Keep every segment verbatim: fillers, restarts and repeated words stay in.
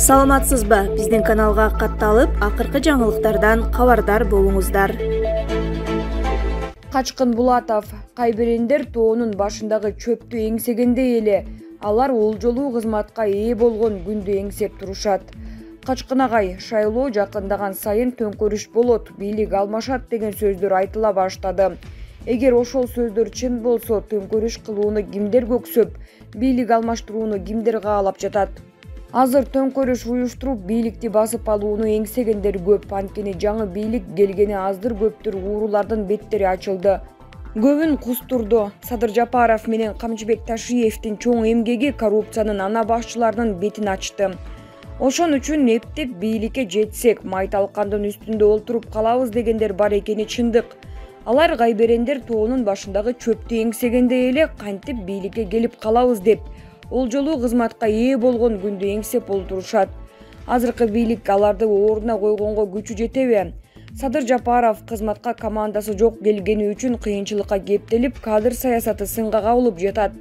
Саламатсызбы? Биздин каналга катталып, акыркы жаңылыктардан кабардар болуңуздар. Качкын Булатов Кайберендер тоонун башындагы чөптү эңсегенде эле алар олжолуу кызматка ээ болгон күндү эңсеп турушат. Качкын агай шайлоо жакындаган сайын төңкөрүш болот, бийлик алмашат деген сөздөр айтыла баштады. Эгер ошол сөздөр чын болсо, төңкөрүш кылууну кимдер көксөп, бийлик алмаштырууну кимдер каалап жатат? Азыр төңкөрүш уюштуруп, бийликти басып алууну эңсегендер көп, анткени жаңы бийлик келгени аздыр көптүр уурулардын беттери ачылды. Көбүн кустурду. Садыр Жапаров менен Камчыбек Ташиевдин чоң эмгеги коррупциянын ана башчыларынын бетин ачты. Ошон үчүн эптеп бийликке жетсек, май талкандын үстүндө олтуруп калабыз дегендер бар экени чындык. Алар Кайберендер тоонун башындагы чөптү эңсегенде эле кантип бийликке келип калабыз деп, олжолуу кызматка ээ болгон күндү эңсеп олтурушат. Азыркы бийлик аларды ордуна койгонго күчү жетеби? Садыр Жапаров кызматка командасы жок келгени үчүн кыйынчылыкка кептелип, кадр саясаты сынга кабылып жатат.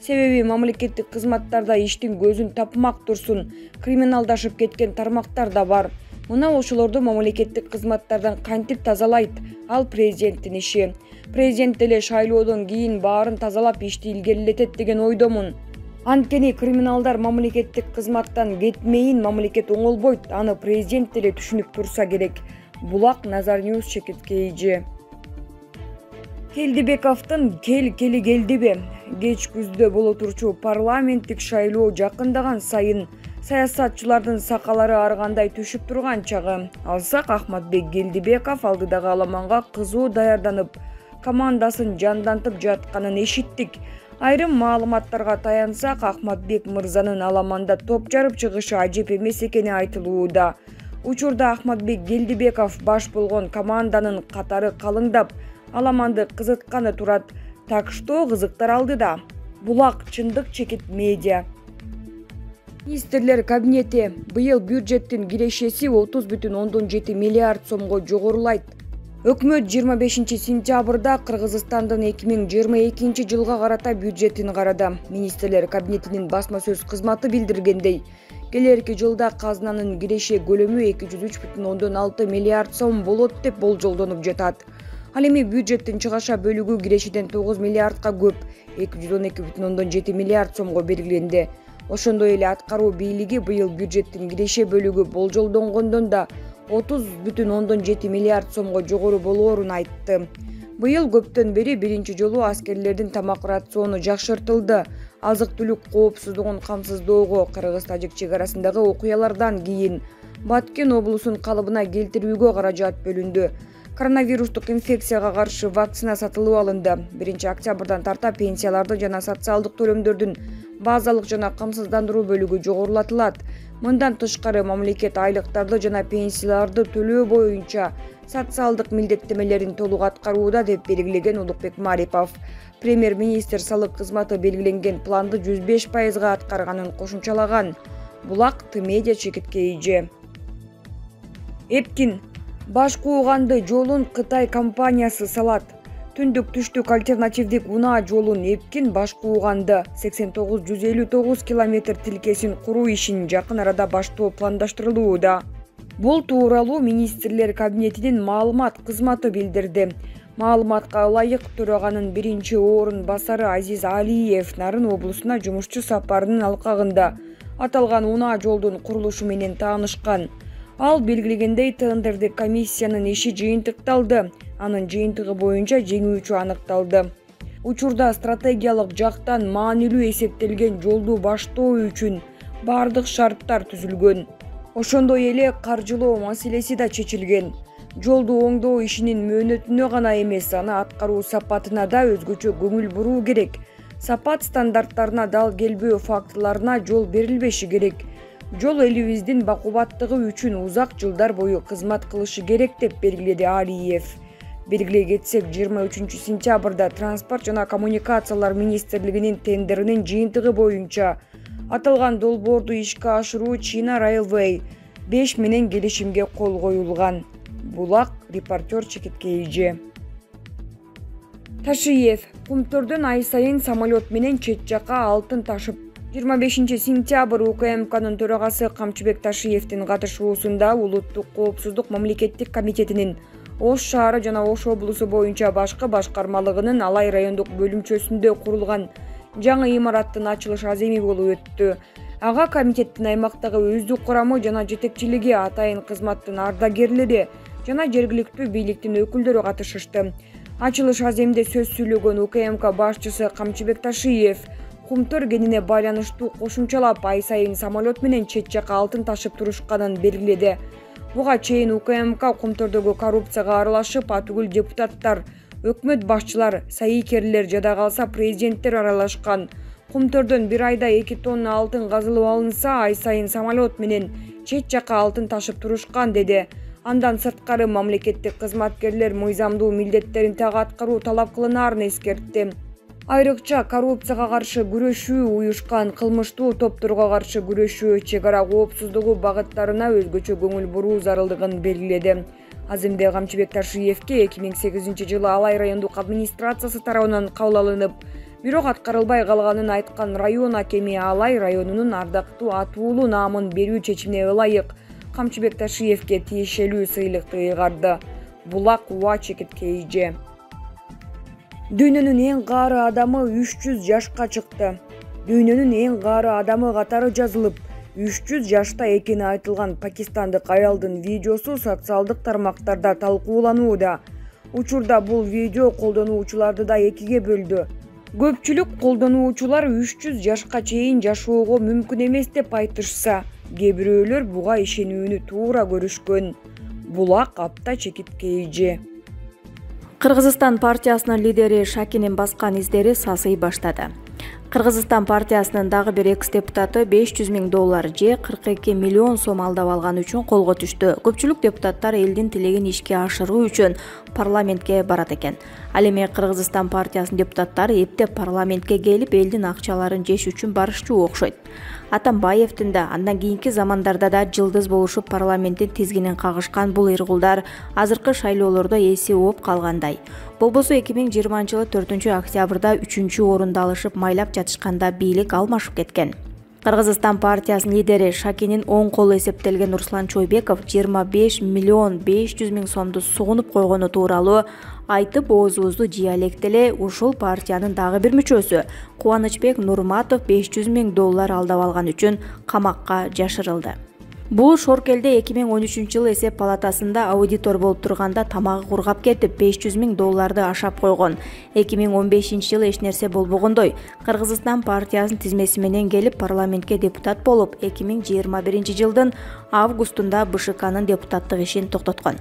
Себеби мамлекеттик кызматтарда иштин көзүн тапмак турсун, криминалдашып кеткен тармактар да бар. Мына ошолорду мамлекеттик кызматтардан кантип тазалайт? Ал президенттин иши. Президент деле шайлоодон кийин баарын тазалап ишти илгерилетет деген ойдомун. Анткени криминалдар мамлекеттик кызматтан кетмейин, мамлекет оңолбойт, аны президент деле түшүнүп турса керек. Булак Назар Ньюс чекиткейи. Келдибековдун кел кели келдиби? Кеч күздө боло турчу парламенттик шайлоо жакындаган сайын саясатчылардын сакалары ар кандай түшүп турган чагы. Алсак, Ахматбек Келдибеков алдыдагы аламанга кызуу даярданып, командасын жандантып жатканын эшиттик. Айрым маалыматтарга таянсак, Ахматбек мырзанын аламанда топ жарып чыгышы ажеп эмес экени айтылууда. Учурда Ахматбек Келдибеков баш болгон команданын катары калыңдап, аламанды кызытканы турат. Так что кызыктар алдыда. Булак чындык чекит медиа. Министрлер кабинети быйыл бюджеттин кирешеси отуз бүтүн ондон жети миллиард сомго жогорулайт. Өкмөт жыйырма бешинчи сентябрда Кыргызстандын эки миң жыйырма экинчи жылга карата бюджетин карады. Министрлер кабинетинин басма сөз кызматы билдиргендей, келерки жылда казынанын киреше көлөмү эки жүз үч бүтүн ондон алты миллиард сом болот деп болжолдонуп жатат. Ал эми бюджеттин чыгаша бөлүгү кирешеден тогуз миллиардка көп, эки жүз он эки бүтүн ондон жети миллиард сомго белгиленди. Ошондой эле аткаруу бийлиги быйыл бюджеттин киреше бөлүгү болжолдонгондон да отуз бүтүн ондон жети миллиард сомго жогору болоорун айтты. Быйыл көптөн бери биринчи жолу аскерлердин тамак рациону жакшыртылды. Азык-түлүк коопсуздугун камсыздоого, Кыргыз-Тажик чек арасындагы окуялардан кийин Баткен облусун калыбына келтирүүгө каражат бөлүндү. Коронавирустук инфекцияга каршы вакцина сатылып алынды. биринчи октябрдан тарта пенсияларды жана социалдык төлөмдөрдүн базалык жана камсыздандыруу бөлүгү жогорулатылат. Мындан тышкары мамлекет айлыктарды жана пенсияларды төлөө боюнча социалдык милдеттемелерин толук аткарууда деп белгилеген Улукбек Марипов. Премьер-министр салык кызматы белгиленген планды жүз беш пайызга аткарганын кошумчалаган. Булак Т-медиа чекиткейи. Эпкин баш кууганды жолун Кытай компаниясы салат. Түндүк түштүк альтернативдик унаа жолун Эпкин баш кууганды сексен тогуз жүз элүү тогуз километр тилкесин куруу ишин жакын арада баштоо пландаштырылууда. Бул тууралуу Министрлер кабинетинин маалымат кызматы билдирди. Маалыматка ылайык, төраганын биринчи орун басары Азиз Алиев Нарын облусуна жумушчу сапарынын алкагында аталган унаа жолдун курулушу менен таанышкан. Ал белгилегендей, тендердик комиссиянын иши жыйынтыкталды. Анын жыйынтыгы боюнча жеңүүчү аныкталды. Учурда стратегиялык жактан маанилүү эсептелген жолду баштоо үчүн бардык шарттар түзүлгөн. Ошондой эле каржылоо маселеси да чечилген. Жолду оңдоо ишинин мөөнөтүнө гана эмес, аны аткаруу сапатына да өзгөчө көңүл буруу керек. Сапат стандарттарына дал келбөө фактыларына жол берилбеши керек. Жол элибиздин бакубаттыгы үчүн узак жылдар бою кызмат кылышы керек деп белгиледи Алиев. Белгилей кетсек, жыйырма үчүнчү сентябрда Транспорт жана коммуникациялар министрлигинин тендеринин жыйынтыгы боюнча аталган долбоорду ишке ашыруу China Railway беш менен келишимге кол коюлган. Булак репортер чекиткейи. Ташиев Кумтөрдөн ай сайын самолет менен чет жакка алтын ташып жыйырма бешинчи сентябрь УКМКнын төрагасы Камчыбек Ташиевдин катышуусунда Улуттук коопсуздук мамлекеттик комитетинин Ош шаары жана Ош облусу боюнча башкы башкармалыгынын Алай райондук бөлүмчөсүндө курулган жаңы имараттын ачылыш аземи болуп өттү. Ага комитеттин аймактагы өздүк курамы жана жетекчилиги, атайын кызматтын ардагерлери жана жергиликтүү бийликтин өкүлдөрү катышышты. Ачылыш аземде сөз сүйлөгөн УКМК башчысы Камчыбек Ташиев кумтөр кенине байланыштуу кошумчалап ай сайын самолет менен чет жака алтын ташып турушканын белгиледи. Буга чейин УКМК кумтордогу коррупцияга аралашып, атүгүл депутаттар, өкмөт башчылар, сайыкерлер жада калса президенттер аралашкан. Кумтордон бир айда эки тонна алтын казылып алынса, ай сайын самолет менен чет жака алтын ташып турушкан деди. Андан сырткары мамлекеттик кызматкерлер мыйзамдуу милдеттерин так аткаруу талап кылынаарын эскертти. Айрыкча коррупцияга каршы күрөшүү, уюшкан кылмыштуу топторго каршы күрөшүү, чек ара коопсуздугу багыттарына өзгөчө көңүл буруу зарылдыгын белгиледи. Аземде Камчыбек Ташиевке эки миң сегизинчи жылы Алай райондук администрациясы тарабынан кабыл алынып, бирок аткарылбай калганын айткан район акеми Алай районунун ардактуу атуулуу наамын берүү чечимине ылайык Камчыбек Ташиевке тиешелүү сыйлыкты ыйгарды. Булак Уа Чекиткей эже. Дүйнөнүн эң каары адамы үч жүз жашка чыкты. Дүйнөнүн эң каары адамы катары жазылып, үч жүз жашта экени айтылган пакистандык аялдын видеосу социалдык тармактарда талкууланууда. Учурда бул видео колдонуучуларды да экиге бөлдү. Көпчүлүк колдонуучулар үч жүз жашка чейин жашоого мүмкүн эмес деп айтышса, кээ бирөөлөр буга ишенүүнү туура көрүшкөн. Булак Апта Чекиткей эже. Кыргызстан партиясынын лидери Шакинин баскан издери сасый баштады. Кыргызстан партиясынын дагы бир экс-депутаты беш жүз миң доллар же кырк эки миллион сом алдап алган үчүн колго түштү. Көпчүлүк депутаттар элдин тилегин ишке ашыруу үчүн парламентке барат экен. Ал эми Кыргызстан партиясынын депутаттары эптеп парламентке келип, элдин акчаларын жеш үчүн барышчу окшойт. Атамбаевдин да, андан кийинки замандарда да жылдыз болушуп парламенттин тизгинин кагышкан бул ыйгулдар азыркы шайлоолордо эси ооп калгандай. Болбосо эки миң жыйырманчы жылы төртүнчү октябрда үчүнчү орунду алышып майлап жатышканда бийлик алмашып кеткен. Кыргызстан партиясынын лидери Шакинин оң колу эсептелген Руслан Чойбеков жыйырма беш миллион беш жүз миң сомду сугунуп койгону тууралуу айтып, оозубузду жыялек деле ушул партиянын дагы бир мүчөсү Кубанычбек Нурматов беш жүз миң доллар алдап алган үчүн камакка жашырылды. Бул Шоркелде эки миң он үчүнчү жылы эсеп палатасында аудитор болуп турганда тамагы кургап кетип беш жүз миң долларды ашап койгон. эки миң он бешинчи жылы эч нерсе болбогондой Кыргызстан партиясынын тизмеси менен келип парламентке депутат болуп, эки миң жыйырма биринчи жылдын августунда БШКнын депутаттык ишин токтоткон.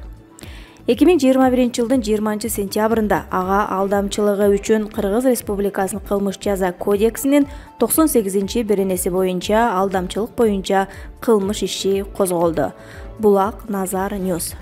эки миң жыйырма биринчи жылдын жыйырманчы сентябрында ага алдамчылыгы үчүн Кыргыз Республикасынын кылмыш жаза кодексинин токсон сегизинчи беренеси боюнча алдамчылык боюнча кылмыш иши козголду. Булак Назар Ньюс.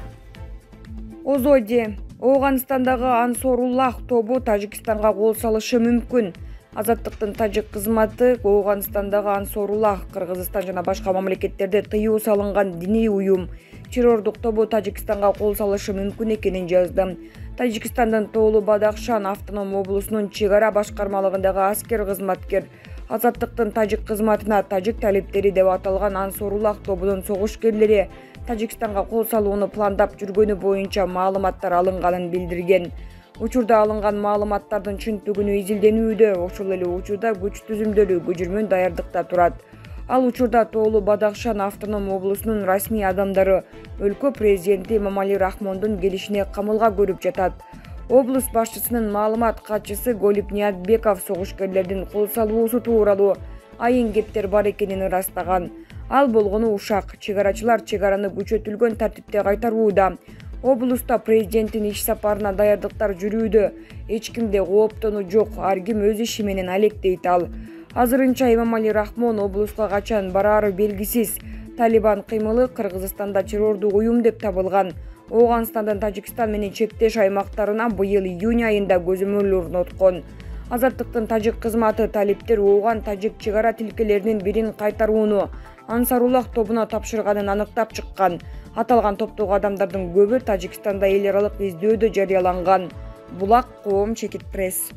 Озоди, Ооганстандагы Ансоруллах тобу Тажикстанга кол салышы мүмкүн. Азаттыктын тажик кызматы Ооганстандагы Ансоруллах Кыргызстан жана башка мамлекеттерде тыюу салынган диний уюм террордук тобу Тажикстанга кол салышы мүмкүн экенин жазды. Тажикстандын Тоолу Бадахшан автоном облусунун чек ара башкармалыгындагы аскер кызматкер Азаттыктын тажик кызматына тажик талиптери деп аталган Ансоруллах тобунун согушкерлери Тажикстанга кол салууну пландап жүргөнү боюнча маалыматтар алынганын билдирген. Учурда алынган маалыматтардын чынтүгүнү изилденүүдө, ошол эле учурда күч түзүмдөрү көжүрмөн даярдыкта турат. Ал учурда Тоолу Бадахшан автоном облусунун расмий адамдары өлкө президенти Эмомали Рахмондун келишине камылга көрүп жатат. Облус башчысынын маалымат катчысы Голип Ниятбеков согушкерлердин кол салуусу тууралуу айын кептер бар экенин ырастаган. Ал болгону ушак, чек арачылар чек араны күчөтүлгөн тартипте кайтарууда. Облуста президенттин иш сапарына даярдыктар жүрүүдө. Эч кимде кооптонуу жок, ар ким өз иши менен алек дейт ал. Азырынча Эмомали Рахмон облуска качан бараары белгисиз. Талибан кыймылы Кыргызстанда террордук уюм деп табылган. Ооганстандын Тажикстан менен чектеш аймактарына быйыл июнь айында көзөмөл орноткон. Азаттыктын тажик кызматы талиптер Ооган тажик чек ара тилкелеринин бирин кайтарууну Ансаруллах тобуна тапшырганын аныктап чыккан. Аталган топтогу адамдардын көбү Тажикстанда эл аралык издөөдө жарыяланган. Булак Коом Чекит пресс.